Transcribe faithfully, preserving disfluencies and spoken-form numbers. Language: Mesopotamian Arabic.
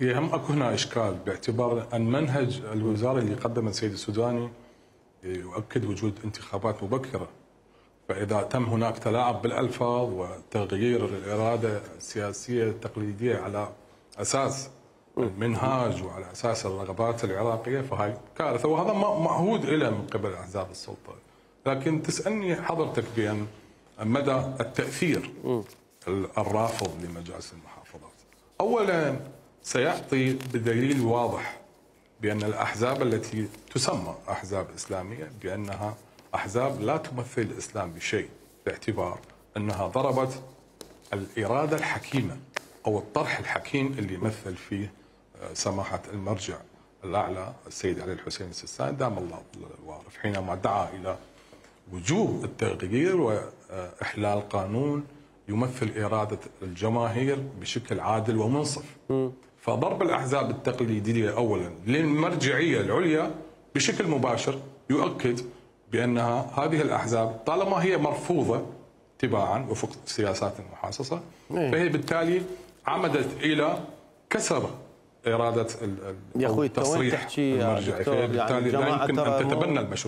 هي هم اكو هنا اشكال باعتبار ان منهج الوزاره اللي قدمه السيد السوداني يؤكد وجود انتخابات مبكره، فاذا تم هناك تلاعب بالالفاظ وتغيير الاراده السياسيه التقليديه على اساس المنهاج وعلى اساس الرغبات العراقيه فهي كارثه، وهذا معهود له من قبل احزاب السلطه. لكن تسالني حضرتك بان مدى التاثير الرافض لمجالس المحافظات. اولا سيعطي بدليل واضح بان الاحزاب التي تسمى احزاب اسلاميه بانها احزاب لا تمثل الاسلام بشيء، باعتبار انها ضربت الاراده الحكيمه او الطرح الحكيم اللي مثل فيه سماحه المرجع الاعلى السيد علي الحسين السيستاني دام الله الوارث، حينما دعا الى وجوب التغيير واحلال قانون يمثل اراده الجماهير بشكل عادل ومنصف. فضرب الاحزاب التقليديه اولا للمرجعيه العليا بشكل مباشر يؤكد بانها هذه الاحزاب طالما هي مرفوضه تباعا وفق السياسات المحاصصه فهي بالتالي عمدت الى كسر اراده التصريح المرجعي، فبالتالي لا يمكن ان تتبنى المشروع.